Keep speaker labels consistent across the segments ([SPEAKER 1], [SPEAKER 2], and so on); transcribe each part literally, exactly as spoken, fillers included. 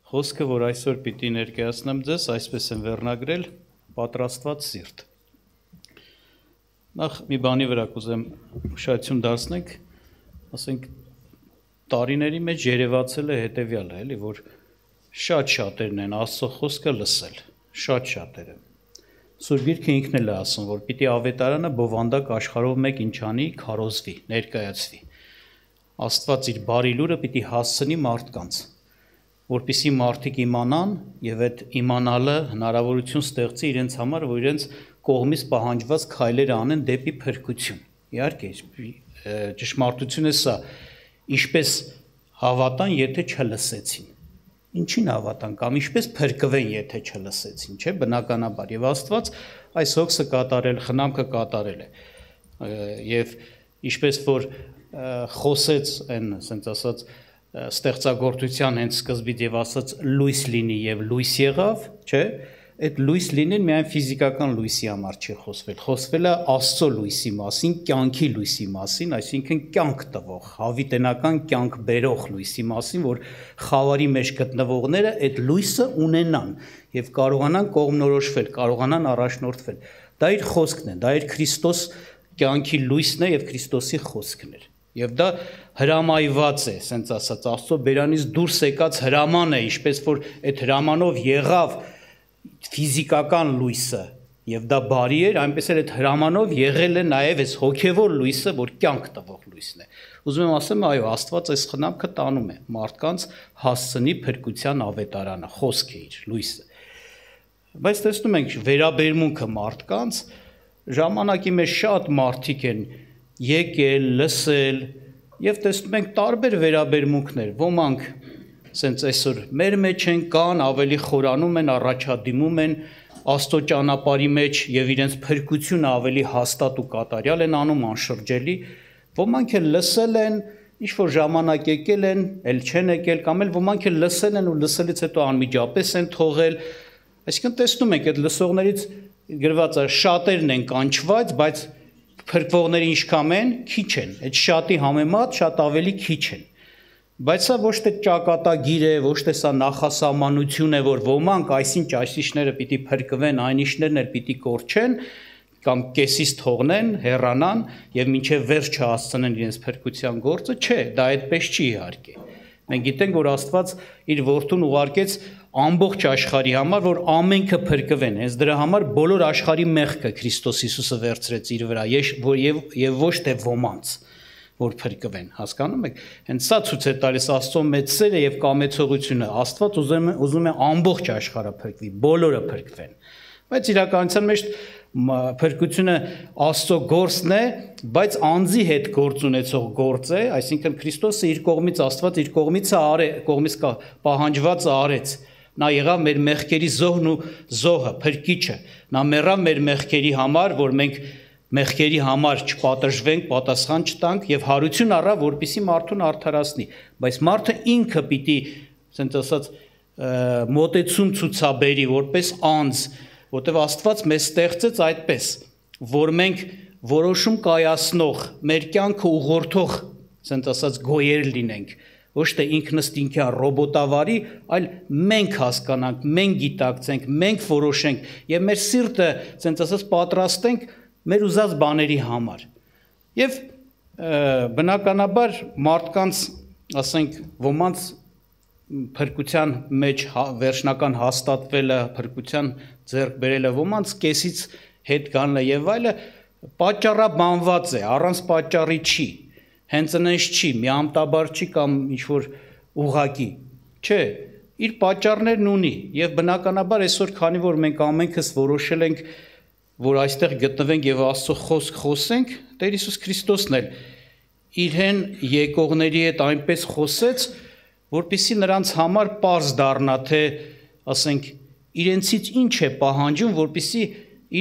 [SPEAKER 1] Խոսքը, որ այսօր պիտի ներկայացնեմ ձեզ, այսպես են վերնագրել պատրաստված սիրտ։ Նախ մի բանի վրա կուզեմ ուշադրություն դարձնենք, ասենք տարիների մեջ երևացել է հետևյալը, էլի, որ շատ շատերն են Աստծո խոսքը լսել, շատ շատերը։ Սուրբ Գիրքը ինքն էլ է ասում, որ պիտի ավետարանը բովանդակ աշխարհով մեկ ինչ անի, քարոզվի, ներկայացվի։ Աստված իր բարի լուրը պիտի հասցնի մարդկանց, որպեսզի մարդիկ իմանան եւ այդ իմանալը հնարավորություն ստեղծի իրենց համար, որ իրենց կողմից պահանջված քայլերը անեն դեպի փրկություն։ Իհարկե, ճշմարտությունը սա, ինչպես հավատան, եթե չլսեցին։ Ինչին հավատան կամ ինչպես փրկվեն, եթե չլսեցին, չէ՞, բնականաբար։ Եվ Աստված այս հոգսը կատարել, խնամքը կատարել է։ Եվ ինչպես որ խոսեց այն, ասենց ասած, ստեղծագործության հենց սկզբից եւ ասած լույս լինի եւ լույս եղավ, չէ՞, այդ լույս լինեն միայն ֆիզիկական լույսի համար չի խոսվել, խոսվել է Աստծո լույսի մասին, կյանքի լույսի մասին, այսինքն կյանք տվող, հավիտենական կյանք բերող լույսի մասին, որ խավարի մեջ գտնվողները այդ լույսը ունենան եւ կարողանան կողմնորոշվել, կարողանան առաջնորդվել։ Դա իր խոսքն է, դա իր Քրիստոս կյանքի լույսն է եւ Քրիստոսի խոսքն է։ Եվ դա հրամայված է, ասենց ասած, Աստծո բերանից դուրս եկած հրաման է, ինչպես որ այդ հրամանով եղավ ֆիզիկական լույսը, եւ դա բարի էր, այնպես էլ այդ հրամանով եղել է նաեւ այս հոգեվոր լույսը, որ կյանք տվող լույսն է։ Ուզում եմ ասեմ, այո, Աստված այս խնամքը տանում է մարդկանց հասցնի փրկության ավետարանը, խոսքը իր լույսը։ Բայց տեսնում ենք վերաբերմունքը մարդկանց, ժամանակի մեջ շատ մարդիկ են եկել, լսել եւ տեսնում ենք տարբեր վերաբերմունքներ, ոմանք ասենց այսօր մեր մեջ են կան, ավելի խորանում են, առաջադիմում են Աստծո ճանապարհի մեջ եւ իրենց փրկությունը ավելի հաստատ ու կատարյալ են անում, անշրջելի, ոմանք էլ լսել են, ինչ որ ժամանակ եկել են, էլ չեն եկել, կամ էլ ոմանք էլ լսել են ու լսելից հետո անմիջապես են թողել, այսինքն տեսնում ենք այդ լսողներից գրված է շատերն են կանչված, բայց փրկվողները ինչքան են, քիչ են, այդ շատի համեմատ շատ ավելի քիչ են, բայց սա ոչ թե ճակատագիր է, ոչ թե սա նախասահմանություն է, որ ոմանք այսինչ այսիշները պիտի փրկվեն, այնիշներն էլ պիտի կորչեն, կամ կեսից թողնեն, հեռանան եւ մինչեւ վերջ չհասցնեն իրենց փրկության գործը, չէ, դա այդպես չի իհարկե։ Մենք գիտենք, որ Աստված իր որդուն ուղարկեց ամբողջ աշխարհի համար, որ ամենքը փրկվեն, հենց դրա համար բոլոր աշխարհի մեղքը Քրիստոս Հիսուսը վերցրեց իր վրա, եւ եւ ոչ թե ոմանց, որ փրկվեն, հասկանում եք։ Հենց սա ցույց է տալիս Աստծո մեծ սերը եւ կամեցողությունը։ Աստված ուզում է ուզում է ամբողջ աշխարհը փրկվի, բոլորը փրկվեն։ Բայց իրականության մեջ փրկությունը Աստծո գործն է, բայց անձի հետ գործ ունեցող գործ է, այսինքն Քրիստոսը իր կողմից Աստված իր կողմից արե, կողմից պահանջվածը արեց։ Նա եղավ մեր մեղքերի զոհն ու զոհը, փրկիչը։ Նա մեռավ մեր մեղքերի համար, որ մենք մեղքերի համար չպատժվենք, պատասխան չտանք եւ հարություն առավ, որպեսզի մարդուն արդարացնի։ Բայց մարդը ինքը պիտի, ասենց ասած, մոտեցում ցուցաբերի որպես անձ, որտեղ Աստված մեզ ստեղծեց այդպես, որ մենք որոշում կայացնող, մեր կյանքը ուղղորդող, ասենք ասած, գոյեր լինենք, ոչ թե ինքնըստինքյան ռոբոտավարի, այլ մենք հասկանանք, մենք գիտակցենք, մենք որոշենք եւ մեր սիրտը, ասենք ասած, պատրաստենք մեր ուզած բաների համար։ Եվ բնականաբար մարդկանց, ասենք, ոմանց փրկության մեջ վերջնական հաստատվելը, փրկության ձեռք բերելը, ոմանց կեսից հետ գանելը եւ այլը պատճառաբանված է, առանց պատճառի չի, հենց այնպես չի, միամտաբար չի կամ ինչ որ ուղակի, չէ, իր պատճառներն ունի եւ բնականաբար այսօր քանի որ մենք ամենքս որոշել ենք, որ այստեղ գտնվենք եւ Աստծո խոսք խոսենք, Տեր Հիսուս Քրիստոսն էլ իրեն եկողների հետ այնպես խոսեց, որպեսզի նրանց համար պարզ դառնա, թե, ասենք, իրենցից ինչ է պահանջում, որպեսզի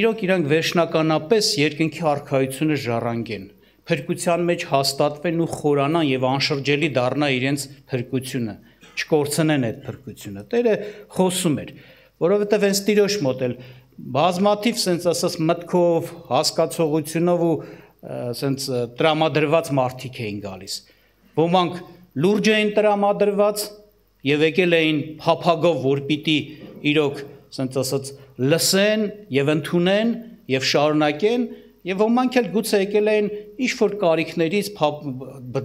[SPEAKER 1] իրոք իրանք վերջնականապես երկնքի արքայությունը ժառանգեն, փրկության մեջ հաստատվեն ու խորանան եւ անշրջելի դառնա իրենց փրկությունը, չկորցնեն այդ փրկությունը։ Տերը խոսում էր, որովհետեւ հենց Տիրոջ մոտ էլ բազմաթիվ sense ասած մտքով, հասկացողությունով ու sense տրամադրված մարդիկ էին գալիս։ Ոմանք լուրջ էին տրամադրված եւ եկել էին փափագով, որ պիտի իրոք, ասենց ասած, լսեն եւ ընդունեն եւ շարունակեն, եւ ոմանք էլ գուցե եկել էին ինչ որ կարիքներից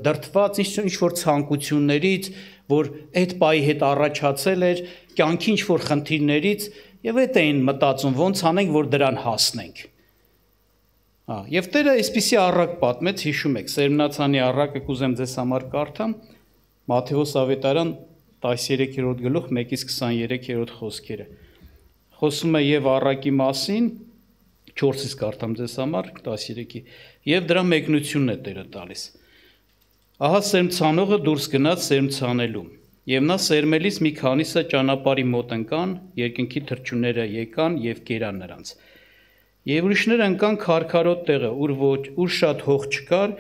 [SPEAKER 1] դրդված, ինչ որ ցանկություններից, որ այդ պայի հետ առաջացել էր, կյանքի ինչ որ խնդիրներից եւ այդ էին մտածում ոնց անենք, որ դրան հասնենք։ Հա, եւ Տերը այսպիսի առակ պատմեց, հիշում եք, Սերմնացանի առակը կուզեմ ձեզ համար կարդամ, Մատթեոս ավետարան տասներորդ գլուխ մեկից քսաներորդ խոսքերը։ Խոսում է եւ առակի մասին, չորսից կարդամ ձեզ համար, տասներեքի, եւ դրա մեկնությունն է Տերը տալիս։ Ահա սերմցանողը դուրս գնաց սերմցանելու, եւ նա սերմելիս մի քանիսը ճանապարհի մոտ ընկան, երկնքի թռչունները եկան եւ կերան նրանց։ Եվ ուրիշները ընկան քարքարոտ տեղը, ուր ոչ, ուր շատ հող չկար,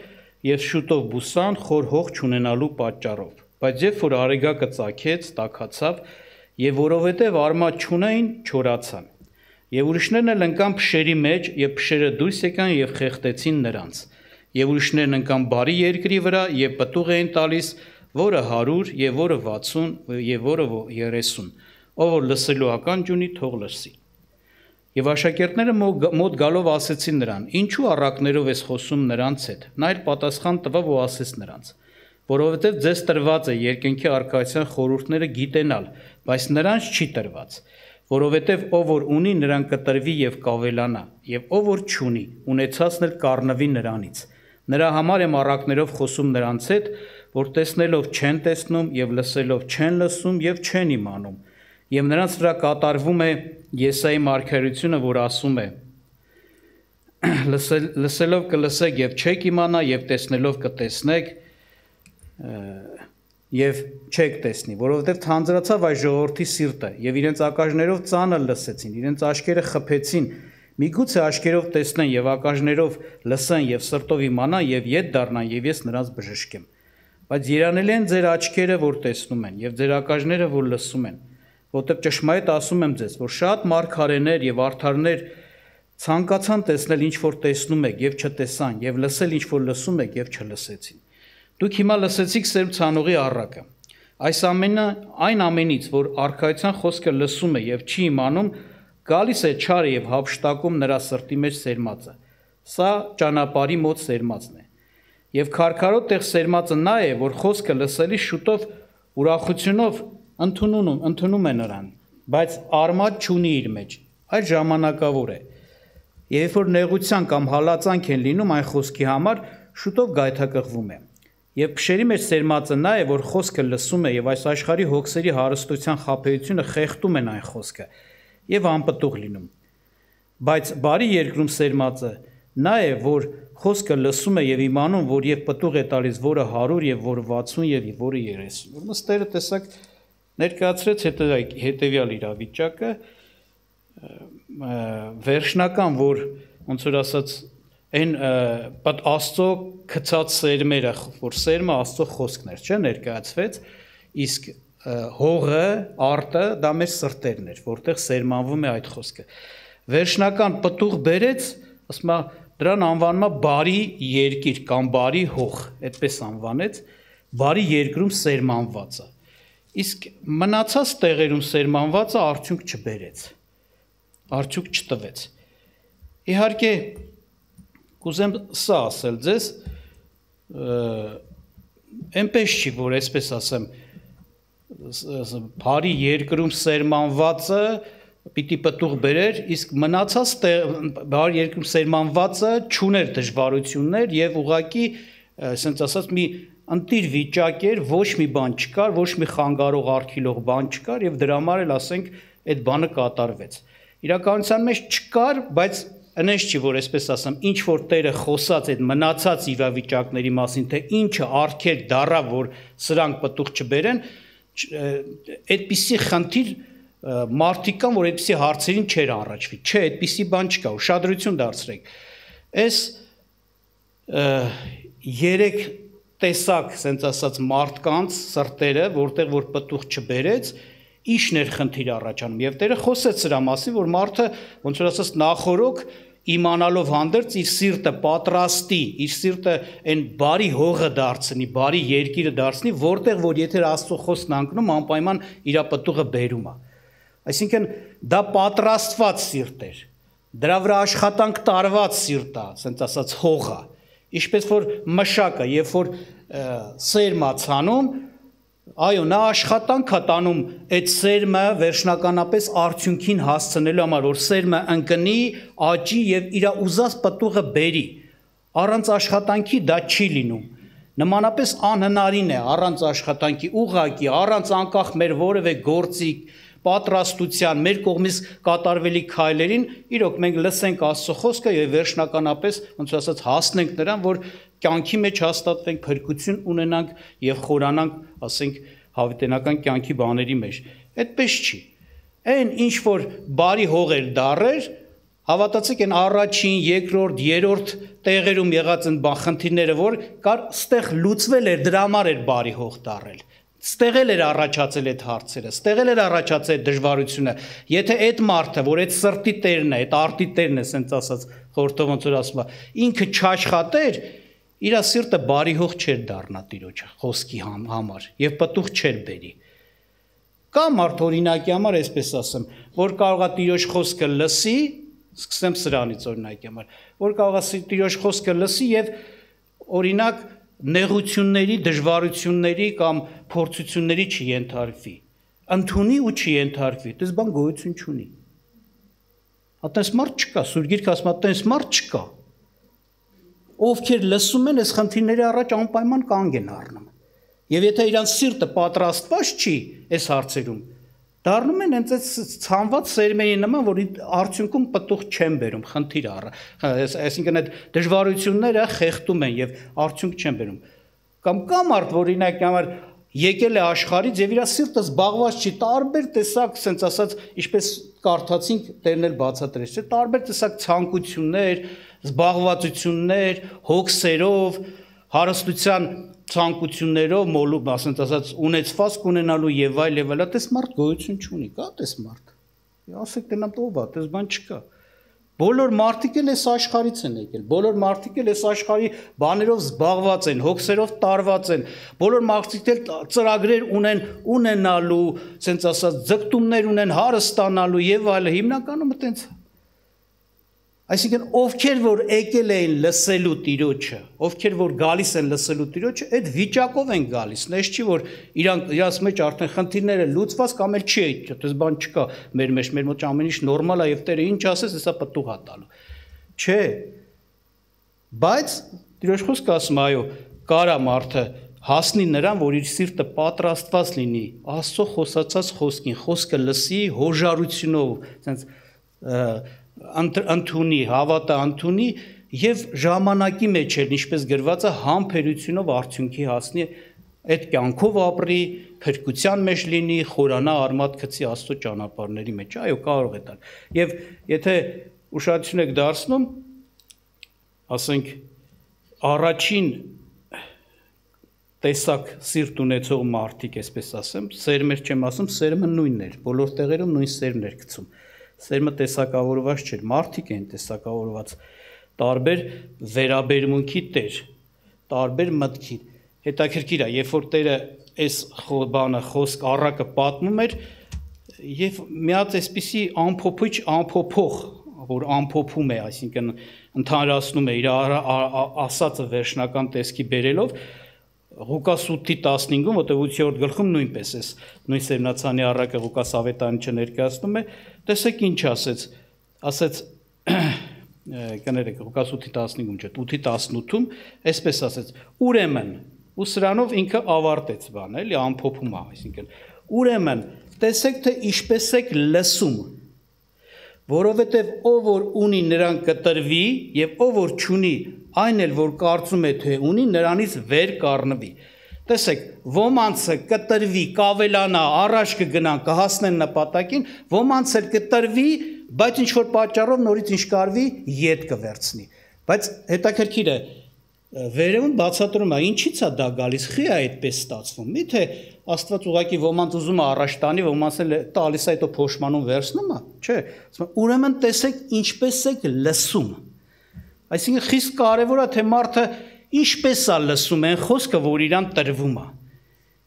[SPEAKER 1] եւ շուտով բուսան խոր հող չունենալու պատճառով։ Բայց երբ որ արեգակը ծագեց, տաքացավ, եւ որովհետեւ արմատ չունեին, չորացան։ Եվ ուրիշներն էլ ընկան փշերի մեջ, եւ փշերը դուրս եկան եւ խեղդեցին նրանց։ Եվ ուրիշներն ընկան բարի երկրի վրա եւ պտուղ էին տալիս, որը հարյուր եւ որը վաթսուն եւ որը երեսուն։ Ով որ լսելու ականջ ունի, թող լսի։ Եվ աշակերտները մոտ գալով ասեցին նրան. Ինչու առակներով ես խոսում նրանց հետ։ Նա էլ պատասխան տվավ ու ասեց նրանց. Որովհետև ձեզ տրված է երկնքի արքայության խորհուրդները գիտենալ, բայց նրանց չի տրված, որովհետև ով որ ունի, նրան կտրվի եւ կավելանա, եւ ով որ չունի, ունեցածն էլ կառնվի նրանից։ Նրա համար եմ առակներով խոսում նրանց հետ, որ տեսնելով չեն տեսնում եւ լսելով չեն լսում եւ չեն իմանում։ Եվ նրանց վրա կատարվում է Եսայի մարգարեությունը, որ ասում է. լսելով կլսեք եւ չեք իմանա եւ տեսնելով կտեսնեք եւ չեք տեսնի, որովհետեւ թանձրացավ այս ժողովրդի սիրտը եւ իրենց ակաժներով ծանր լսեցին, իրենց աշկերը խփեցին, միգուցե աշկերով տեսնեն եւ ակաժներով լսեն եւ սրտով իմանան եւ ետ դառնան եւ ես նրանց բժշկեմ։ Բայց երանելի են ձեր աչքերը, որ տեսնում են եւ ձեր ակաժները, որ լսում են, որտեղ ճշմարիտ ասում եմ ձեզ, որ շատ մարգարեներ եւ արդարներ ցանկացան տեսնել ինչ որ տեսնում եք եւ չտեսան եւ լսել ինչ որ լսում եք եւ չլսեցին։ Դուք հիմա լսեցիք սերմցանողի առակը։ Այս ամենը այն ամենից, որ արքայության խոսքը լսում է եւ չի իմանում, գալիս է չարը եւ հափշտակում նրա սրտի մեջ սերմածը։ Սա ճանապարհի մոտ սերմածն է։ Եվ քարքարոտ տեղ սերմածը նա է, որ խոսքը լսելի շուտով ուրախությունով ընդունում, ընդունում է նրան, բայց արմատ չունի իր մեջ, այլ ժամանակավոր է։ Երբ որ նեղության կամ հալածանք են լինում այն խոսքի համար, շուտով գայթակղվում է։ Եվ փշերի մեջ սերմածը նա է, որ խոսքը լսում է եւ այս աշխարհի հոգսերի հարստության խաբեությունը խեղդում են այն խոսքը եւ անպտուղ լինում։ Բայց բարի երկրում սերմածը նա է, որ խոսքը լսում է եւ իմանում, որ եւ պտուղ է տալիս, որը հարյուր եւ որը վաթսուն եւ որը երեսուն։ Ուրեմն Տերը տեսակ ներկայացրեց հետեւյալ իրավիճակը, վերջնական, որ ոնց որ ասած այն պատ Աստծո գցած սերմերը, որ սերմը Աստծո խոսքն էր, չէ, ներկայացվեց, իսկ հողը, արտը դա մեր սրտերն էր, որտեղ սերմանվում է այդ խոսքը։ Վերջնական պտուղ բերեց, ասում է դրան անվանում է բարի երկիր կամ բարի հող, այդպես անվանեց, բարի երկրում սերմանվածը։ Իսկ մնացած տեղերում սերմանվածը արդյունք չբերեց, արդյունք չտվեց։ Իհարկե, կուզեմ սա ասել ձեզ, այնպես չի, որ այսպես ասեմ, բարի երկրում սերմանվածը պիտի պտուղ բերեր, իսկ մնացած բարի երկրում սերմանվածը չուներ դժվարություններ եւ ուղղակի, ասենց ասած, մի ընտիր վիճակ էր, ոչ մի բան չկար, ոչ մի խանգարող արգելող բան չկար եւ դրա համար էլ ասենք այդ բանը կատարվեց։ Իրականության մեջ չկար, բայց այնպես չի, որ այսպես ասեմ, ինչ որ Տերը խոսած այդ մնացած իրավիճակների մասին, թե ինչը արգելք դառավ, որ սրանք պտուղ չբերեն, այդպիսի խնդիր մարդիկ կան, որ այդպիսի հարցերին չեր առաջվի, չէ, այդպիսի բան չկա, ուշադրություն դարձրեք։ Այս երեք տեսակ, ասենց ասած, մարդկանց սրտերը, որտեղ որ պտուղ չբերեց, իշն էր խնդիր առաջանում, եւ Տերը խոսեց սրա մասին, որ մարդը ոնց որ ասած նախորոք իմանալով հանդերձ իր սիրտը պատրաստի, իր սիրտը այն բարի հողը դարձնի, բարի երկիրը դարձնի, որտեղ որ եթե Աստծո խոսքն անկնում, անպայման իր պտուղը բերում է։ Այսինքն դա պատրաստված սիրտ էր, դրա վրա աշխատանք տարված սիրտ է, ասենց ասած հողը, ինչպես որ մշակը, երբ որ սերմ է ցանում, այո, նա աշխատանք է տանում այդ սերմը վերջնականապես արդյունքին հասցնելու համար, որ սերմը ընկնի, աճի եւ իր ուզած պտուղը բերի։ Առանց աշխատանքի դա չի լինում։ Նմանապես անհնարին է առանց աշխատանքի, ուղղակի, առանց անկախ մեր որևէ գործի պատրաստության, մեր կողմից կատարվելի քայլերին, իրոք մենք լսենք Աստծո խոսքը եւ վերջնականապես, ոնց ասած, հասնենք նրան, որ կյանքի մեջ հաստատվենք, փրկություն ունենանք եւ խորանանք, ասենք, հավիտենական կյանքի բաների մեջ։ Այդպես չի։ Այն ինչ որ բարի հողեր դարեր, հավատացեք, այն առաջին, երկրորդ, երրորդ տեղերում եղած են խնդիրները, որ կար ստեղ լուծվել էր, դրա համար էր բարի հող դարել։ Ստեղել էր առաջացել այդ հարցերը, ստեղել էր առաջացել այդ դժվարությունը։ Եթե այդ մարդը, որ այդ սրտի տերն է, այդ արտի տերն է, ասենց ասած, խորհրդով ոնց որ ասում է, ինքը չաշխատեր, իր սիրտը բարի հող չէր դառնա Տիրոջ խոսքի համար եւ պտուղ չէր բերի։ Կա մարդ օրինակի համար, այսպես ասեմ, որ կարող է Տիրոջ խոսքը լսի, սկսեմ սրանից օրինակի համար, որ կարող է Տիրոջ խոսքը լսի եւ օրինակ նեղությունների, դժվարությունների կամ փորձությունների չենթարկվի, ընդունի ու չենթարկվի, դες բան գոյություն չունի։ Այդպես մարդ չկա, Սուրբ Գիրքը ասում է, այդպես մարդ չկա։ Ովքեր լսում են, այս խնդիրների առաջ անպայման կանգ են առնում։ Եվ եթե իրանց սիրտը պատրաստված չի այս հարցերում, դառնում են հենց այս ցանված սերմերի նման, որ արդյունքում պտուղ չեն բերում, խնդիր առ, այսինքն այդ դժվարությունները խեղդում են եւ արդյունք չեն բերում։ Կամ կա մարդ, որ օրինակ համար եկել է աշխարհից եւ իր սիրտը զբաղված չի, տարբեր տեսակ, ասենց ասած, ինչպես կարդացինք, Տերն էլ բացատրեց, չէ՞, տարբեր տեսակ ցանկություններ, զբաղվածություններ, հոգսերով, հարստության ցանկություններով, մոլու, ասենց ասած, ունեցվածք ունենալու եւ այլ եւ այլ, այդպես մարդ գոյություն չունի, կա այդպես մարդ։ Ասեք դենամ ով է, այդպես բան չկա։ Բոլոր մարդիկ էլ այս աշխարհից են եկել, բոլոր մարդիկ էլ այս աշխարհի բաներով զբաղված են, հոգսերով տարված են, բոլոր մարդիկ էլ ծրագրեր ունեն ունենալու, ասենց ասած, ձգտումներ ունեն հարստանալու եւ այլը, հիմնականում այտենց։ Այսինքն ովքեր որ եկել էին լսելու Տիրոջը, ովքեր որ գալիս են լսելու Տիրոջը, այդ վիճակով են գալիս, նես չի որ իրանք իրաց մեջ արդեն խնդիրները լուծված կամ էլ չի, այդպես բան չկա մեր մեջ, մեր մոտ ամեն ինչ նորմալ է եւ Տերը ինչ ասես, հեսա պտուղ է տալու։ Չէ։ Բայց Տիրոջ խոսքը ասում է, այո, կարա մարդը հասնի նրան, որ իր սիրտը պատրաստված լինի Աստծո խոսացած խոսքին, խոսքը լսի հոժարությունով, ասենց ընդունի, հավատա ընդունի եւ ժամանակի մեջ էլ ինչպես գրված է համբերությունով արդյունքի հասնի, այդ կյանքով ապրի, փրկության մեջ լինի, խորանա արմատ գցի Աստծո ճանապարհների մեջ, այո, կարող է տալ։ Եվ եթե ուշադրություն եք դարձնում, ասենք առաջին տեսակ սիրտ ունեցող մարդիկ, այսպես ասեմ, սերմեր չեմ ասում, սերմը նույնն էր, բոլոր տեղերում նույն սերմն էր գցում։ Սերմը տեսակավորված չէր, մարդիկ են տեսակավորված, տարբեր վերաբերմունքի տեր, տարբեր մտքի, հետաքրքիր է, երբ որ Տերը այս բանը խոսք առակը պատմում էր, եւ մի հատ այսպիսի ամփոփիչ ամփոփող, որ ամփոփում է, այսինքն ընդհանրացնում է իր ասածը վերջնական տեսքի բերելով, Ղուկաս ութի տասնհինգում, որտեղ ութերորդ գլխում նույնպես էս նույն Սերմնացանի առակը Ղուկաս ավետարանիչը ներկայացնում է, տեսեք ինչ ասեց, ասեց կներեք Ղուկաս ութի տասնհինգում չէ, ութի տասնութում, այսպես ասեց, ուրեմն, ու սրանով ինքը ավարտեց բանը, էլի ամփոփում է, այսինքն, ուրեմն, տեսեք թե ինչպես եք լսում, որովհետև ով որ ունի նրան կտրվի եւ ով որ չունի, այն էլ որ կարծում է թե ունի, նրանից վեր կառնվի։ Տեսեք, ոմանցը կտրվի, կավելանա, առաջ կգնան, կհասնեն նպատակին, ոմանց էլ կտրվի, բայց ինչ որ պատճառով նորից ինչ կարվի, ետ կվերցնի։ Բայց հետաքրքիր է, վերևում բացատրում է, ինչի՞ց է դա գալիս, խի է այդպես ստացվում։ Միթե Աստված ուղղակի ոմանց ուզում է առաջ տանի, ոմանց էլ տալիս է հետո փոշմանում վերցնում է, չէ։ Ուրեմն տեսեք ինչպես եք լսում։ Այսինքն խիստ կարևոր է թե մարդը ինչպես է լսում այն խոսքը, որ իրան տրվում է։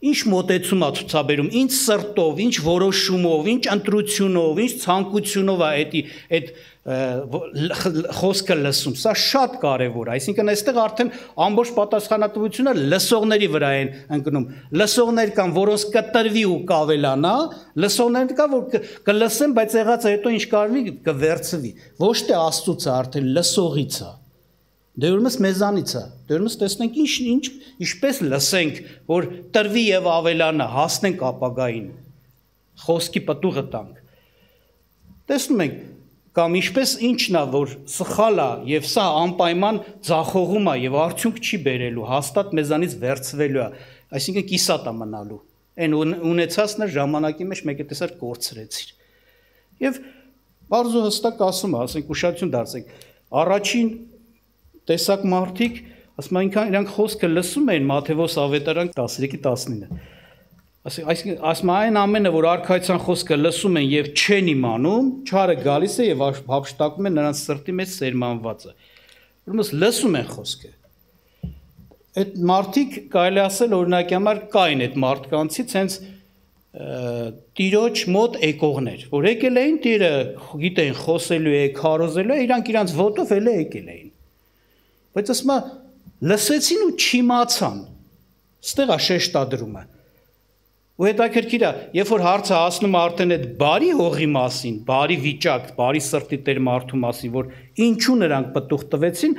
[SPEAKER 1] Ինչ մոտեցում է ցուցաբերում, ինչ սրտով, ինչ որոշումով, ինչ ընտրությունով, ինչ ցանկությունով է այդ այդ խոսքը լսում, սա շատ կարևոր է, այսինքն այստեղ արդեն ամբողջ պատասխանատվությունը լսողների վրա են ընկնում, լսողներ կան, որոնց կտրվի ու կավելանա, լսողներ կան, որ կլսեն, բայց եղածը հետո ինչ կարվի կվերցվի, ոչ թե Աստծուց է, արդեն լսողից է, դե ուրեմն մեզանից է, դե ուրեմն տեսնենք ինչ ինչ ինչպես լսենք, որ տրվի եւ ավելանա, հասնենք ապագային, խոսքի պտուղը տանք, տեսնում ենք կամ ինչպես ինչն է, որ սխալ է եւ սա անպայման ձախողում է եւ արդյունք չի բերելու, հաստատ մեզանից վերցվելու է, այսինքն կիսատ է մնալու, այն ունեցածն է ժամանակի մեջ մեկը տեսար կորցրեցիր։ Եվ բարձր ու հստակ ասում է, ասենք ուշադրություն դարձեք, առաջին տեսակ մարդիկ, ասում այնքան իրանք խոսքը լսում էին Մատթեոս ավետարան տասնյոթի տասնինը։ Այսինքն ասում այն ամենը, որ արքայության խոսքը լսում են եւ չեն իմանում, չարը գալիս է եւ հափշտակում է նրանց սրտի մեջ սերմանվածը։ Ուրեմն լսում են խոսքը։ Այդ մարդիկ կարելի ասել օրինակի համար կային այդ մարդկանցից հենց տիրոջ մոտ եկողներ, որ եկել էին տիրը գիտեն խոսելու է, քարոզելու է, իրանք իրանց ոտով էլ եկել էին։ Բայց ասում է լսեցին ու չիմացան։ Ստեղ է շեշտադրումը։ Ու հետաքրքիր է, երբ որ հարցը հասնում է արդեն այդ բարի հողի մասին, բարի վիճակ, բարի սրտի տեր մարդու մասին, որ ինչու նրանք պտուղ տվեցին,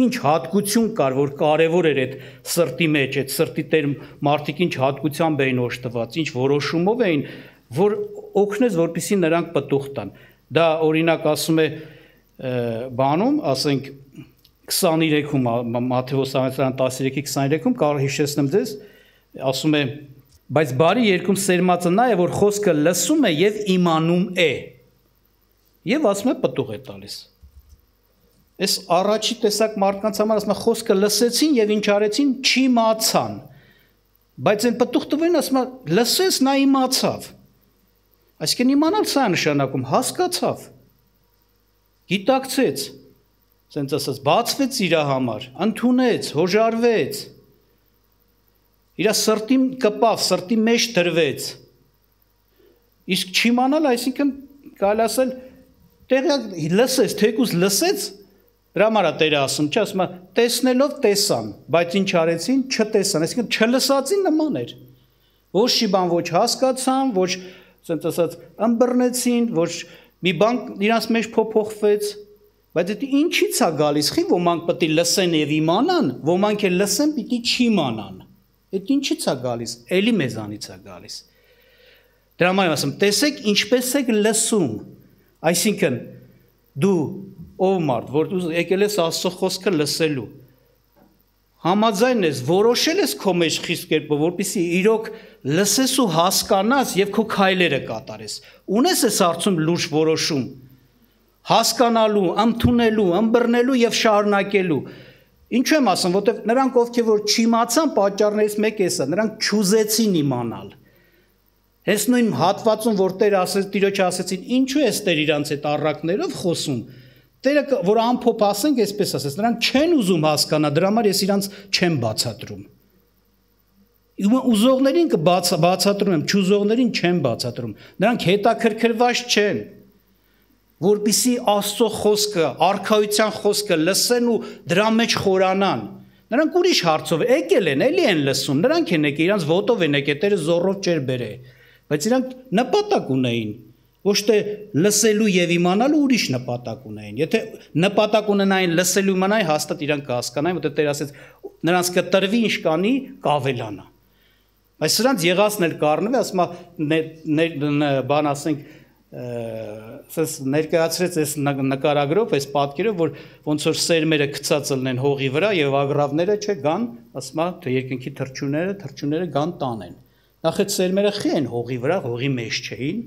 [SPEAKER 1] ինչ հատկություն կար, որ կարևոր էր այդ սրտի մեջ, այդ սրտի տեր մարդիկ ինչ հատկությամբ էին օժտված, ինչ որոշումով էին, որ օգնեց, որպեսզի նրանք պտուղ տան։ Դա օրինակ ասում է բանում, ասենք քսաներեքում Մատթեոս ավետարան տասնյոթի քսաներեքում կարող հիշեցնեմ ձեզ, ասում է բայց բարի երկում սերմածը նա է, որ խոսքը լսում է եւ իմանում է։ Եվ ասում է պտուղ է տալիս։ Այս առաջի տեսակ մարդկանց համար ասում է խոսքը լսեցին եւ ինչ արեցին, չիմացան։ Բայց այն պտուղ տվին ասում է լսեց, նա իմացավ։ Այսինքն իմանալ սա նշանակում հասկացավ։ Գիտակցեց։ Սենց ասած բացվեց իր համար, ընդունեց, հոժարվեց։ Իր սրտին կպավ, սրտի մեջ դրվեց։ Իսկ չիմանալ, այսինքն կարելի ասել տեղյակ լսեց, թեկուզ լսեց, դրա համար է Տերը ասում, չէ, ասում է տեսնելով տեսան, բայց ինչ արեցին, չտեսան, այսինքն չլսածին նման էր։ Ոչ մի բան ոչ հասկացան, ոչ սենց ասած ըմբռնեցին, ոչ մի բան իրանց մեջ փոփոխվեց, բայց դա ինչի՞ց է գալիս, խի ոմանք պետք է լսեն եւ իմանան, ոմանք էլ լսեն, պիտի չիմանան։ Այդ ինչի՞ց է գալիս, էլի մեզանից է գալիս։ Դրա համար ասում, տեսեք ինչպես եք լսում, այսինքն դու ով մարդ, որ դու եկել ես Աստծո խոսքը լսելու, համաձայն ես, որոշել ես քո մեջ խիստ կերպով, որպեսզի իրոք լսես ու հասկանաս եւ քո քայլերը կատարես։ Ունես ես արդյոք լուրջ որոշում, հասկանալու, ընդունելու, ըմբռնելու եւ շարունակելու։ Ինչու եմ ասում, որտեվ նրանք ովքեր որ չիմացան պատճառներից մեկը էսա, նրանք չուզեցին իմանալ։ Հենց նույն հատվածում, որ Տերը ասեց, Տիրոջը ասեցին, ինչու ես Տեր իրանց այդ առակներով խոսում։ Տերը որ ամփոփ ասենք, այսպես ասեց, նրանք չեն ուզում հասկանալ, դրա համար ես իրանց չեմ բացատրում։ Ուզողներին կբացատրում եմ, չուզողներին չեմ բացատրում։ Նրանք հետաքրքրված չեն, որպեսզի Աստծո խոսքը, արքայության խոսքը լսեն ու դրա մեջ խորանան։ Նրանք ուրիշ հարցով եկել են, էլի են լսում, նրանք են եկել, իրանց ոտով են եկել, Տերը զոռով չէր բերել, բայց իրանք նպատակ ունեին, ոչ թե լսելու եւ իմանալու ուրիշ նպատակ ունեին։ Եթե նպատակ ունենային լսելու իմանային, հաստատ իրանք կհասկանային, որտեղ Տերը ասեց, նրանց կտրվի ինչ կանի, կավելանա։ Բայց սրանց եղածն էլ կառնվի, ասում է, բան ասենք Սենց ներկայացրեց այս նկարագրով, այս պատկերով, որ ոնց որ սերմերը գցած լինեն հողի վրա եւ ագրավները չէ գան, ասում է, թե երկնքի թռչունները, թռչունները գան տանեն։ Նախ այդ սերմերը խի են հողի վրա, հողի մեջ չէին,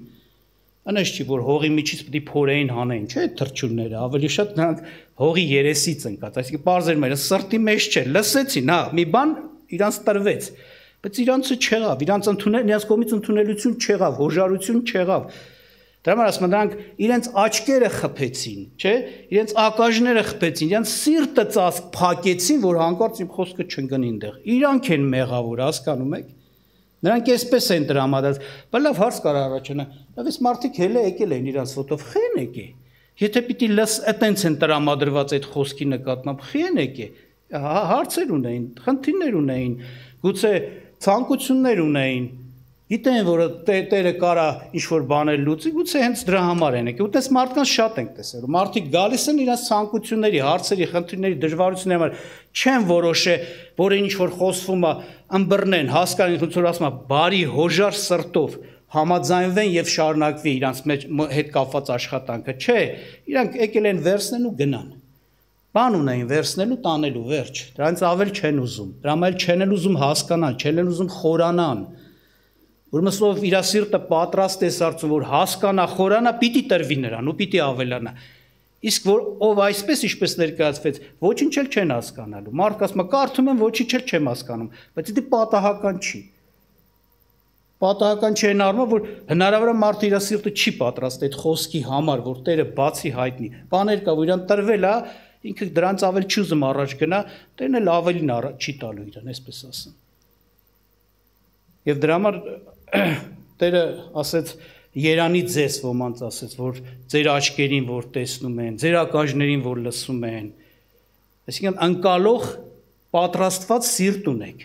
[SPEAKER 1] Անես չի, որ հողի միջից պետք է փորեին հանեին, չէ՞, թրջունները, ավելի շատ նրանք հողի երեսից ընկած, այսինքն բարձր մերը սրտի մեջ չէ, լսեցին, հա, մի բան իրանց տրվեց, բայց իրանցը չեղավ, իրանց ընդունել, իրանց կողմից ընդունելություն չեղավ, հոժարություն չեղավ։ Դրա համար ասում եմ, նրանք իրենց աչքերը խփեցին, չէ՞, իրենց ակաժները խփեցին, իրենց սիրտը ծածկ փակեցին, որ հանկարծ իմ խոսքը չընկնի այնտեղ։ Իրանք են մեղավոր, հասկանում եք։ Նրանք այսպես են տրամադրած, բայց լավ հարց կար առաջանա, լավ էս մարդիկ հելը եկել են իրանց ոտով, խի են եկե։ Եթե պիտի լս այտենց են տրամադրված այդ խոսքի նկատմամբ, խի են եկե։ Հարցեր ունեին, խնդիրներ ունեին, գուցե ցանկություններ ունեին, գիտեն, որ տերը կարա ինչ-որ բաներ լուծի, գուցե հենց դրա համար են եկել, ուտես մարդկանց շատ ենք տեսել, մարդիկ գալիս են իրենց ցանկությունների, հարցերի, խնդիրների, դժվարությունների համար, չեն որոշե, որ ինչ-որ խոսվում է, ըմբռնեն, հասկանան, ոնց որ ասում է, բարի հոժար սրտով համաձայնվեն եւ շարունակվի իրենց հետ կապված աշխատանքը, չէ, իրանք եկել են վերցնեն ու գնան։ Բան ունեին վերցնելու, տանելու, վերջ, դրանից ավել չեն ուզում, դրանից չեն էլ ուզում հասկանալ, չեն էլ ուզում խորանան։ Ուրեմն ով իր սիրտը պատրաստ է սարցում, որ հասկանա, խորանա, պիտի տրվի նրան ու պիտի ավելանա։ Իսկ որ ով այսպես ինչպես ներկայացվեց, ոչինչ էլ չեն հասկանալու։ Մարդը ասում է, կարդում եմ, ոչինչ էլ չեմ հասկանում, բայց դա պատահական չի։ Պատահական չի այն առումով, որ հնարավոր է մարդը իր սիրտը չի պատրաստ այդ խոսքի համար, որ Տերը բացի հայտնի։ Բաներ կա, որ իրան տրվել է, ինքը դրանց ավել չի ուզում առաջ գնա, Տերն էլ ավելին չի տալու իրան, այսպես ասեմ։ Եվ դրա համար Տերը ասեց Երանի ձեզ ոմանց ասեց, որ ձեր աչքերին որ տեսնում են, ձեր ակաժներին որ լսում են, այսինքն անկալող պատրաստված սիրտ ունեք։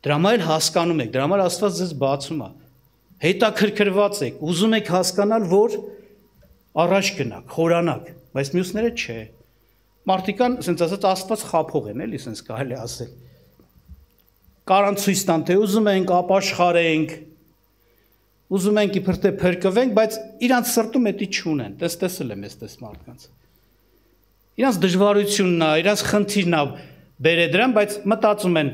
[SPEAKER 1] Դրա համար հասկանում եք, դրա համար Աստված ձեզ բացում է։ Հետաքրքրված եք, ուզում եք հասկանալ, որ առաջ գնաք, խորանաք, բայց մյուսները չէ։ Մարդիկան, ասենց ասած, Աստված խափող են, էլի, ասենց կարելի ասել։ Կարան ցույց տան, թե ուզում ենք ապաշխարենք, ուզում ենք իբր թե փրկվենք, բայց իրանց սրտում էդի չունեն, տես տեսել եմ էստես մարդկանց։ Իրանց դժվարությունն է, իրանց խնդիրն է բերե դրան, բայց մտածում են,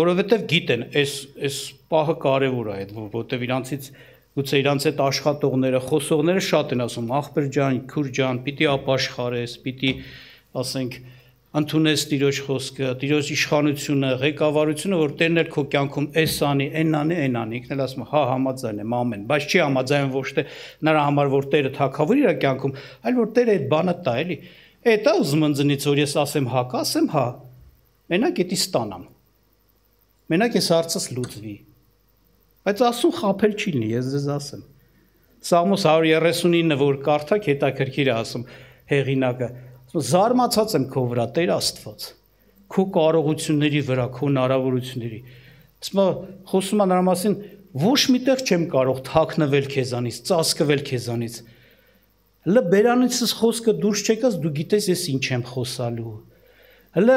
[SPEAKER 1] որովհետև գիտեն, այս այս պահը կարևոր է այդ, որովհետև իրանցից գուցե իրանց այդ աշխատողները, խոսողները շատ են ասում, ախպեր ջան, քուր ջան, պիտի ապաշխարես, պիտի ասենք ընդունես Տիրոջ խոսքը, Տիրոջ իշխանությունը, ղեկավարությունը, որ Տերն էլ քո կյանքում էս անի, այն անի, այն անի, ինքն էլ ասում է, հա, համաձայն եմ, ամեն, բայց չի համաձայն ոչ թե նրա համար, որ Տերը թագավոր իր կյանքում, այլ որ Տերը այդ բանը տա, էլի։ Էդ է ուզում ընձնից, որ ես ասեմ հա, կասեմ հա։ Մենակ էդի ստանամ։ Մենակ ես հարցս լուծվի։ Բայց ասում խափել չի լինի, ես ձեզ ասեմ։ Սաղմոս հարյուր երեսունինը, որ կարդաք, հետաքրքիր է ասում հեղինակը։ Զարմացած եմ քո վրա, Տեր Աստված, քո կարողությունների վրա, քո հնարավորությունների։ Ասում եմ, խոսում եմ նրա մասին, ոչ միտեղ չեմ կարող թաքնվել քեզանից, ծածկվել քեզանից։ Հələ բերանիցս խոսքը դուրս չեկած, դու գիտես ես ինչ եմ խոսալու։ Հələ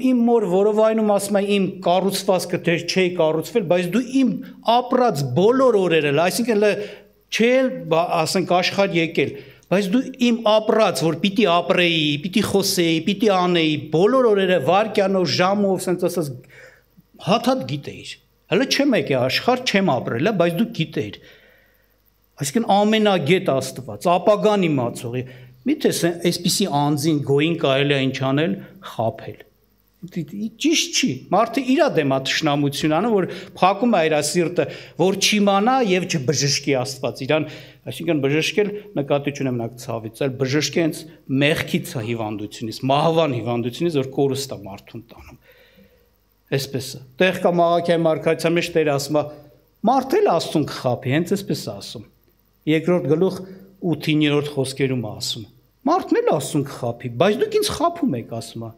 [SPEAKER 1] իմ մոր որովայնում ասում եմ, իմ կառուցվածքը դեր չէի կառուցվել, բայց դու իմ ապրած բոլոր օրերը, այսինքն հələ չէ, ասենք աշխարհ եկել, բայց դու իմ ապրած, որ պիտի ապրեի, պիտի խոսեի, պիտի անեի, բոլոր օրերը վարքյանով, ժամով, ասենց ասած, հատ-հատ գիտեիր։ Հələ չեմ եկել աշխարհ, չեմ ապրել, բայց դու գիտեիր։ Այսինքն ամենագետ Աստված, ապագան իմացող, միթե այսպիսի անձին գոյին կարելի է ինչ անել, խաբել։ Ճիշտ չի, մարդը իր դեմ է թշնամություն անում, որ փակում է իր սիրտը, որ չիմանա եւ չբժշկի Աստված, իրան, այսինքն բժշկել նկատի չունեմ նա ցավից, այլ բժշկի հենց մեղքից է հիվանդությունից, մահվան հիվանդությունից, որ կորուստ է մարդուն տանում։ Այսպես է։ Տեղ կա Մաղաքիայի մարգարեության մեջ Տերը ասում է, մարդը էլ Աստծուն կխաբի, հենց այսպես է ասում։ Երկրորդ գլուխ ութ-երրորդ խոսքերում է ասում։ Մարդն էլ Աստծուն կխաբի, բայց դուք ինձ խաբում եք, ասում է։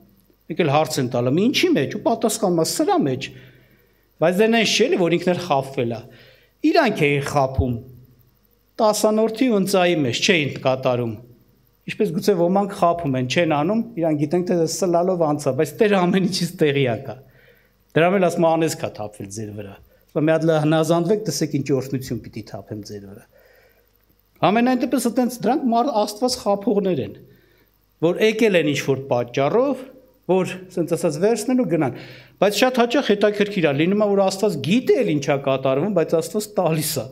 [SPEAKER 1] Մեկ էլ հարց են տալը, ինչի մեջ, ու պատասխանում է, սրա մեջ։ Բայց դե նենց չէ, որ ինքն էլ խաբվել է։ Իրանք էին խաբում։ Տասանորդի ու ընծայի մեջ չէին կատարում։ Ինչպես գուցե ոմանք խաբում են, չեն անում, իրանք գիտենք, թե սլալով անցա, բայց Տերը ամեն ինչից տեղյակ է։ Դրա մեջ ասում անես կա թափվել ձեր վրա։ Մի հատ հնազանդվեք, տեսեք ինչ օրհնություն պիտի թափեմ ձեր վրա։ Ամենայն դեպս այտենց դրանք Աստված խաբողներ են, որ եկել են ինչ-որ պատճառով, որ ասենց ասած վերցնեն ու գնան, բայց շատ հաճախ հետաքրքիր է լինում է, որ Աստված գիտե էլ ինչա կատարվում, բայց Աստված տալիս է,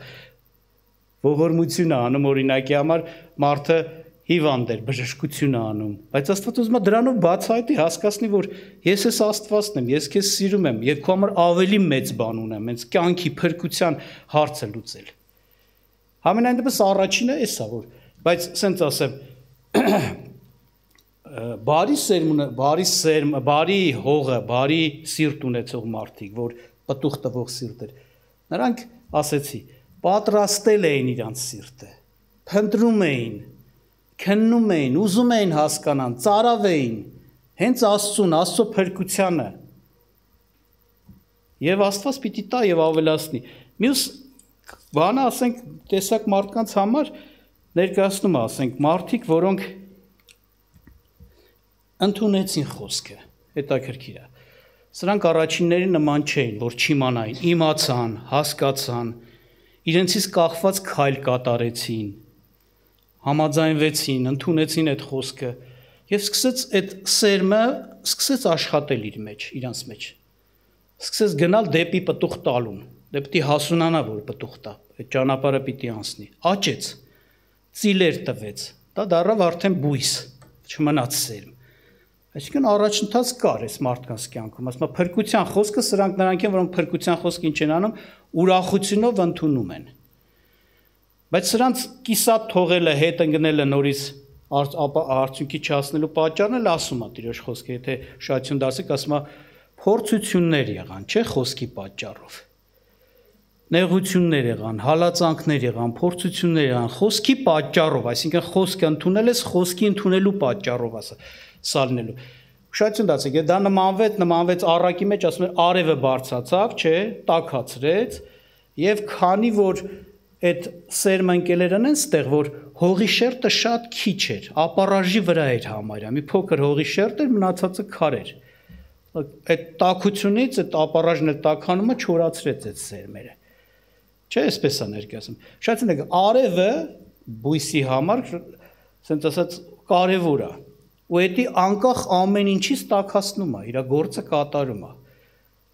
[SPEAKER 1] ողորմություն է անում օրինակի համար, մարդը հիվանդ էր, բժշկություն է անում, բայց Աստված ուզում է դրանով բացահայտի, հասկացնի, որ ես ես Աստվածն եմ, ես քեզ սիրում եմ եւ քո համար ավելի մեծ բան ունեմ, հենց կյանքի փրկության հարցը լուծել։ Համենայն դեպս առաջինը էս է, որ բայց սենց ասեմ, բարի սերմը, բարի սերմը, բարի հողը, բարի սիրտ ունեցող մարդիկ, որ պտուղ տվող սիրտ էր, նրանք ասեցի, պատրաստել էին իրանց սիրտը, փնտրում էին, քննում էին, ուզում էին հասկանան, ծարավ էին, հենց Աստծուն, Աստծո փրկությանը։ Եվ Աստված պիտի տա եւ ավելացնի։ Մյուս բանը, ասենք, տեսակ մարդկանց համար ներկայացնում է, ասենք, մարդիկ, որոնք ընդունեցին խոսքը, հետաքրքիր է։ Սրանք առաջինների նման չէին, որ չիմանային, իմացան, հասկացան, իրենցից կախված քայլ կատարեցին, համաձայնվեցին, ընդունեցին այդ խոսքը եւ սկսեց այդ սերմը սկսեց աշխատել իր մեջ, իրանց մեջ։ Սկսեց գնալ դեպի պտուղ տալուն, դե պիտի հասունանա, որ պտուղ տա, այդ ճանապարհը պիտի անցնի։ Աճեց, ծիլեր տվեց, դա դառավ արդեն բույս, չմնաց սերմ։ Այսինքն առաջընթաց կար այս մարդկանց կյանքում, ասում եմ փրկության խոսքը սրանք նրանք են, որոնք փրկության խոսքը ինչ են անում, ուրախությունով ընդունում են։ Բայց սրանց կիսատ թողելը, հետ ընկնելը նորից արդյունքի չհասնելու պատճառն էլ ասում է Տիրոջ խոսքը, եթե շահություն դասեք, ասում է փորձություններ եղան, չէ՞ խոսքի պատճառով։ Նեղություններ եղան, հալածանքներ եղան, փորձություններ եղան, խոսքի պատճառով, այսինքն խոսքը ընդունել ես, խոսքի ընդունելու պատճառով ասա, սալնելու։ Շահություն դասեք, դա նմանվեց, նմանվեց առակի մեջ, ասում են արևը բարձրացավ, չէ, տաքացրեց, եւ քանի որ այդ սերմը ընկելերն են ստեղ, որ հողի շերտը շատ քիչ էր, ապարաժի վրա էր համարյա, մի փոքր հողի շերտ էր, մնացածը քար էր։ Այդ տաքությունից, այդ ապարաժն էլ տաքանումը չորացրեց այդ սերմերը։ Չէ, այսպես է ներկայացում։ Շատ ցնեք, արևը բույսի համար, ասենց ասած, կարևոր է։ Ու դա անկախ ամեն ինչից տաքացնում է, իր գործը կատարում է։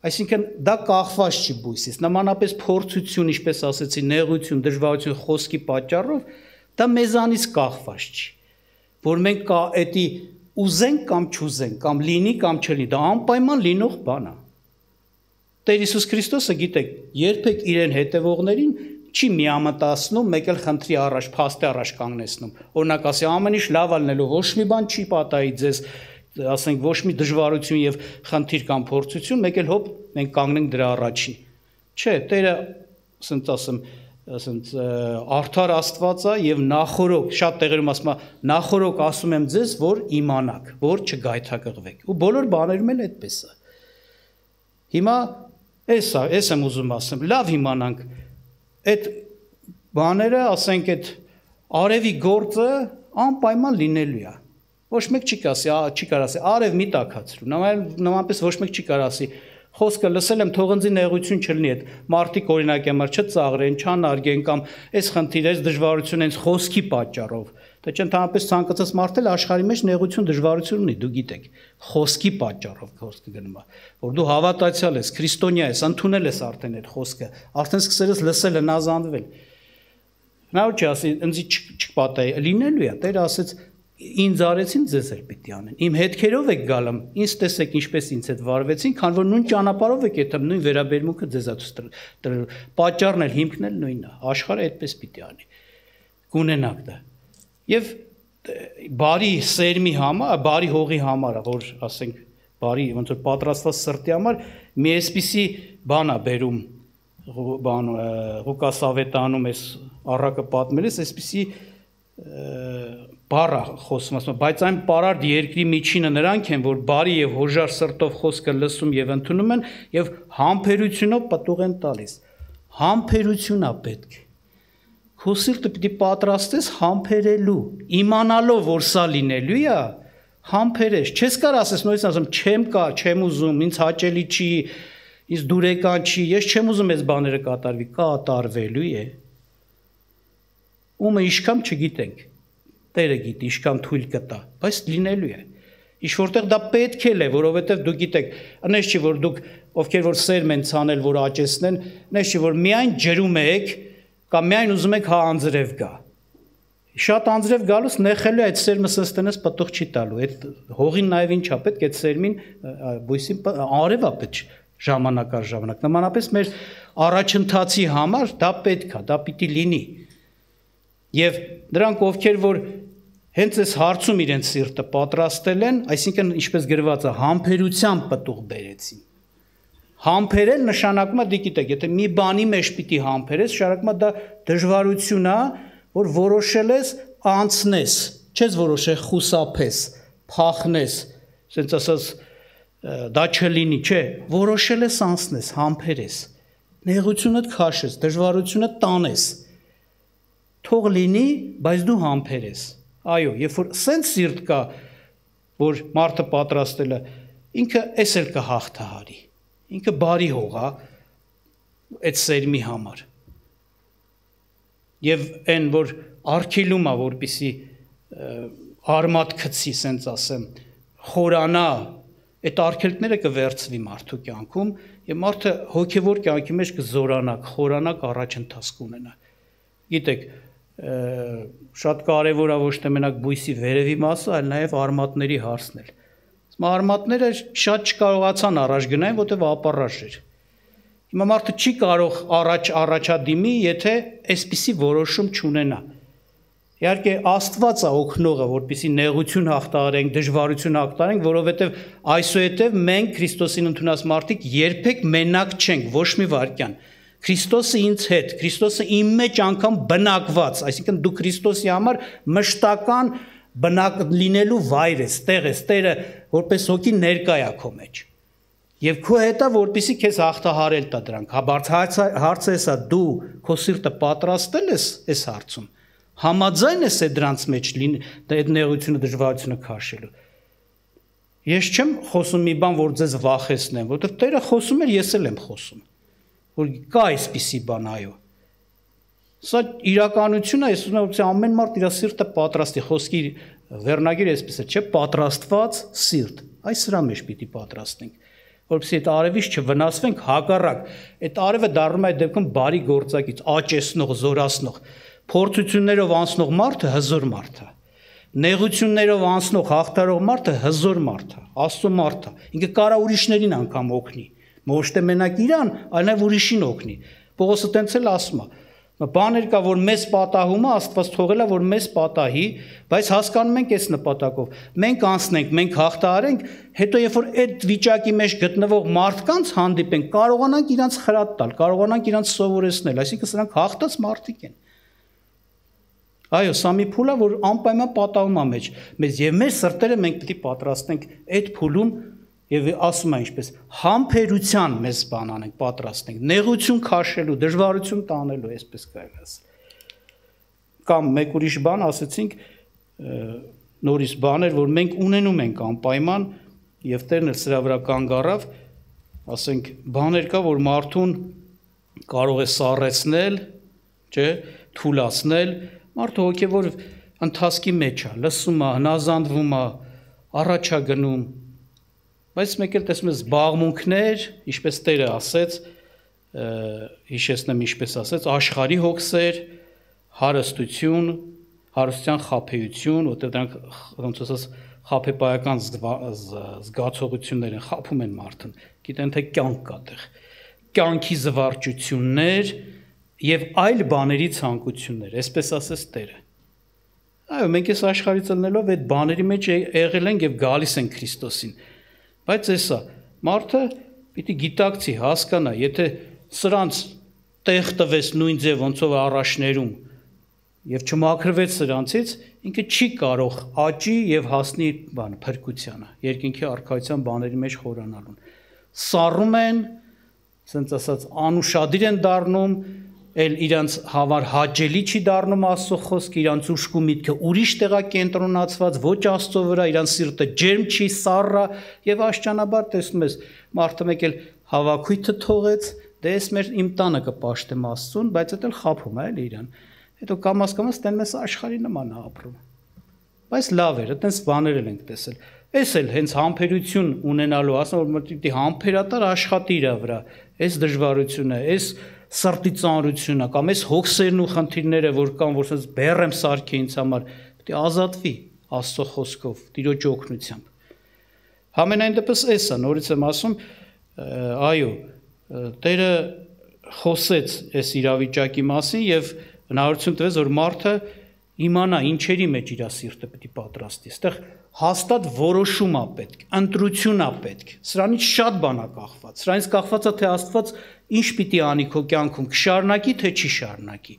[SPEAKER 1] Այսինքն դա կախված չի բույսից, նմանապես փորձություն, ինչպես ասեցի, նեղություն, դժվարություն խոսքի պատճառով, դա մեզանից կախված չի, որ մենք կա էդի ուզենք կամ չուզենք, կամ լինի կամ չլինի, դա անպայման լինող բան է։ Տեր Հիսուս Քրիստոսը, գիտեք, երբեք իրեն հետևողներին չի միամտացնում, մեկ էլ խնդրի առաջ, փաստի առաջ կանգնեցնում։ Օրինակ ասի, ամեն ինչ լավ ալնելու, ոչ մի բան չի պատահի ձեզ, ասենք ոչ մի դժվարություն եւ խնդիր կամ փորձություն, մեկ էլ հոп մենք կանգնենք դրա առաջին։ Չէ, Տերը, ասենք ասեմ, ասենք արդար Աստված է եւ նախորոք, շատ տեղերում ասում է, նախորոք ասում եմ ձեզ, որ իմանաք, որ չգայթակղվեք։ Ու բոլոր բաներում էլ այդպես է։ Հիմա էս է, էս եմ ուզում ասեմ, լավ իմանանք, այդ բաները, ասենք այդ արևի գործը անպայման լինելու է։ Ոչ մեկ չի կասի, չի կարող ասի, արև մի տաքացրու, նմանապես ոչ մեկ չի կարող ասի, խոսքը լսել եմ, թողնձի նեղություն չլինի, այդ մարդիկ օրինակ համար չծաղրեն, չանարգեն կամ այս խնդիր, այս դժվարություն հենց խոսքի պատճառով։ Դա չընդհանրապես ցանկացած մարդ էլ աշխարհի մեջ նեղություն, դժվարություն ունի, դու գիտեք, խոսքի պատճառով խոսքը գնում է, որ դու հավատացյալ ես, քրիստոնյա ես, ընդունել ես արդեն այդ խոսքը, արդեն սկսել ես լսել, հնազանդվել։ Նա ու չի ասի, ինձ չպատահի, լինելու է, Տերը ասեց, ինձ արեցին, ձեզ էլ պիտի անեն։ Իմ հետքերով եք գալում, ինձ տեսեք ինչպես ինձ հետ վարվեցին, քան որ նույն ճանապարհով եք եթե նույն վերաբերմունքը ձեզ տրելու։ Պատճառն էլ հիմքն էլ նույնն է, աշխարհը այդպես պիտի անի։ Կունենաք դա։ Եվ բարի սերմի համար, բարի հողի համար, որ ասենք բարի ոնց որ պատրաստված սրտի համար մի այսպիսի բան է բերում բան Ղուկաս ավետարանում էս առակը պատմել ես, այսպիսի բառը խոսում ասում, բայց այն պարարտ երկրի միջինը նրանք են, որ բարի եւ հոժար սրտով խոսքը լսում եւ ընդունում են եւ համբերությունով պտուղ են տալիս։ Համբերություն է պետք։ Քո սիրտը պիտի պատրաստես համբերելու, իմանալով, որ սա լինելու է, համբերես։ Չես կարող ասես նույնիսկ ասեմ, չեմ կա, չեմ ուզում, ինձ հաճելի չի, ինձ դուրեկան չի, ես չեմ ուզում այս բաները կատարվի, կատարվելու է։ Ումը իշքամ չգիտենք, Տերը գիտի, իշքամ թույլ կտա, բայց լինելու է։ Ինչ որտեղ դա պետք է, որովհետև դու գիտեք, այնպես չի, որ դուք ովքեր որ սերմ են ցանել, որ աճեցնեն, այնպես չի, որ միայն ջրում եք, կամ միայն ուզում եք հա անձրև գա։ Շատ անձրև գալուց նեխելու այդ սերմը սստենես պտուղ չի տալու, այդ հողին նաև ինչա պետք այդ սերմին բույսին արևա պետք ժամանակ առ ժամանակ, նմանապես մեր առաջընթացի համար դա պետք է, դա պիտի լինի։ Եվ նրանք ովքեր որ հենց այս հարցում իրենց սիրտը պատրաստել են, այսինքն ինչպես գրված է, համբերությամբ պտուղ բերեցին։ Համբերել նշանակում է, դե գիտեք, եթե մի բանի մեջ պիտի համբերես, շարակում է դա դժվարություն է, որ որոշել ես անցնես, չես որոշել խուսափես, փախնես, ասենց ասած դա չլինի, չէ, որոշել ես անցնես, համբերես, նեղությունդ քաշես, դժվարությունը տանես, թող լինի, բայց դու համբերես, այո, երբ որ սենց սիրտ կա, որ մարդը պատրաստել է, ինքը էս էլ կհաղթահարի, ինքը բարի հող է, այդ սերմի համար, և են, որ արգելում է, որպիսի արմատ քցի, սենց ասեմ, խորանա, այդ արգելքները կվերցվի մարդու կյանքում, և մարդը հոգևոր կյանքի մեջ կզորանա, կխորանա, առաջընթաց կունենա։ Գիտեք, շատ կարևոր է ոչ թե մենակ բույսի վերևի մասը, այլ նաև արմատների հարցն էլ։ Արմատները շատ չկարողացան առաջ գնային, որտեղ ապառաժ էր։ Հիմա մարդը չի կարող առաջ առաջադիմի, եթե այսպիսի որոշում չունենա։ Իհարկե Աստված է օգնողը, որպեսզի նեղություն հաղթահարենք, դժվարություն հաղթահարենք, որովհետև այսուհետև մենք Քրիստոսին ընդունած մարդիկ երբեք մենակ չենք, ոչ մի վայրկյան։ Քրիստոսը ինձ հետ, Քրիստոսը իմ մեջ անգամ բնակված, այսինքն դու Քրիստոսի համար մշտական բնակ լինելու վայր ես, տեղ ես, Տերը որպես հոգի ներկա է քո մեջ։ Եվ քո հետ է, որպեսզի քեզ հաղթահարել տա դրանք։ Հարցը էսա, դու քո սիրտը պատրաստել ես այս հարցում, համաձայն ես է դրանց մեջ այդ նեղությունը, դժվարությունը քաշելու։ Ես չեմ խոսում մի բան, որ ձեզ վախեցնեմ, որովհետև Տերը խոսում էր, ես էլ եմ խոսում, որ կա այսպիսի բան, այո։ Սա իրականություն է, ես ուզում եմ, որ ամեն մարդ իր սիրտը պատրաստի, խոսքի վերնագիրը այսպես է, չէ, պատրաստված սիրտ, այս սրա մեջ պիտի պատրաստենք, որպեսզի այդ արևից չվնասվենք, հակառակ, այդ արևը դառնում է այդ դեպքում բարի գործակից, աճեցնող, զորացնող, փորձություններով անցնող մարդը հզոր մարդ է, նեղություններով անցնող, հաղթարող մարդը հզոր մարդ է, Աստծո մարդ է, ինքը կարա ուրիշներին անգամ օգնի, ոչ թե մենակ իրան, այլ նաև ուրիշին օգնի։ Պողոսը տենց էլ ասում է, բաներ կա, որ մեզ պատահում է, Աստված թողել է, որ մեզ պատահի, բայց հասկանում ենք այս նպատակով, մենք անցնենք, մենք հաղթահարենք, հետո երբ որ այդ վիճակի մեջ գտնվող մարդկանց հանդիպենք, կարողանանք իրանց խրատ տալ, կարողանանք իրանց սովորեցնել, այսինքն սրանք հաղթած մարդիկ են։ Այո, սա մի փուլ է, որ անպայման պատահում է մեջ, մեզ եւ մեր սրտերը մենք պետք է պատրաստենք այդ փուլում եւ ասում է ինչպես համբերության մեզ բան անենք, պատրաստենք, նեղություն քաշելու, դժվարություն տանելու, այսպես կարելի ասել։ Կամ մեկ ուրիշ բան ասեցինք, նորից բաներ, որ մենք ունենում ենք անպայման եւ Տերն էլ սրա վրա կանգ առավ, ասենք բաներ կա, որ մարդուն կարող է սառեցնել, չէ, թուլացնել, մարդը հոգևոր ընթացքի մեջ է, լսում է, հնազանդվում է, առաջ է գնում, բայց մեկ էլ տեսնում ես զբաղմունքներ, ինչպես Տերը ասեց, հիշեցնեմ ինչպես ասեց, աշխարհի հոգսեր, հարստություն, հարստության խաբեություն, որտեղ դրանք ոնց ասած խաբեբայական զգացողություններ են, խաբում են մարդուն, գիտեն թե կյանք կա տեղ, կյանքի զվարճություններ եւ այլ բաների ցանկություններ, այսպես ասեց Տերը։ Այո, մենք այս աշխարհից ելնելով այդ բաների մեջ եղել ենք եւ գալիս ենք Քրիստոսին։ Բայց էսա, մարդը պիտի գիտակցի, հասկանա, եթե սրանց տեղ տվես նույն ձև ոնցով առաջներում եւ չմաքրվեց սրանցից, ինքը չի կարող աճի եւ հասնի բան փրկությանը, երկինքի արքայության բաների մեջ խորանալուն։ Սառում են, ասենց ասած, անուշադիր են դառնում, էլ իրանց համար հաճելի չի դառնում Աստծո խոսքը, իրանց ուշք ու միտքը ուրիշ տեղա կենտրոնացված, ոչ Աստծո վրա, իրանց սիրտը ջերմ չի, սառը եւ աշճանաբար տեսնում ես, մարդը մեկ էլ հավաքույթը թողեց, դե ես մեր իմ տանը կպաշտեմ Աստծուն, բայց դա էլ խափում է էլի իրան։ Հետո կամաս-կամաս տեն մեզ աշխարհի նման է ապրում։ Բայց լավ էր, այտենց բաներ էլ ենք տեսել։ Էս էլ հենց համբերություն ունենալու, ասում որ պիտի համբերատար աշխատի իր վրա, այս դժվարությունը, այս սրտի ծանրությունը կամ այս հոգսերն ու խնդիրները, որ կան, որ ասես բեռ եմ սարքի ինձ համար, պետք է ազատվի Աստծո խոսքով, Տիրոջ օգնությամբ։ Համենայն դեպս էս է, նորից եմ ասում, այո, Տերը խոսեց այս իրավիճակի մասին եւ հնարավորություն տվեց, որ մարդը իմանա ինչերի մեջ իր սիրտը պետք է պատրաստի։ Այստեղ հաստատ որոշում է պետք, ընտրություն է պետք։ Սրանից շատ բան է կախված։ Սրանից կախված է թե Աստված ինչ պիտի անի քո կյանքում, կշարունակի թե չի շարունակի։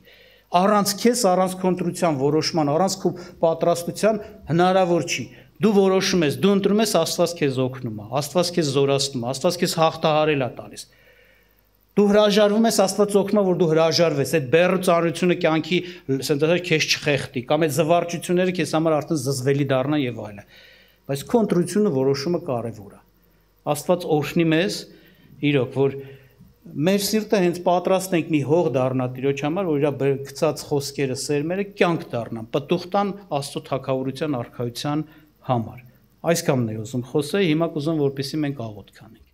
[SPEAKER 1] Առանց քեզ, առանց քո ընտրության որոշման, առանց քո պատրաստության հնարավոր չի։ Դու որոշում ես, դու ընտրում ես, Աստված քեզ օգնում է, Աստված քեզ զորացնում է, Աստված քեզ հաղթահարել է տալիս։ Դու հրաժարվում ես, Աստված օգնում է, որ դու հրաժարվես, այդ բեռը ծանրությունը կյանքի սենտեր քեզ չխեղդի, կամ այդ զվարճությունները քեզ համար արդեն զզվելի դառնան եւ այլն։ Բայց քո ընտրությունը, որոշումը կարեւոր է։ Աստված օրհնի մեզ, իրոք, որ մեր սիրտը հենց պատրաստ ենք մի հող դառնա Տիրոջ համար, որ իր գծած խոսքերը, սերմերը կյանք դառնան, պտուղ տան Աստծո թագավորության արքայության համար։ Այսքանն է ուզում խոսել, հիմա կուզում որպեսզի մենք աղոթք անենք։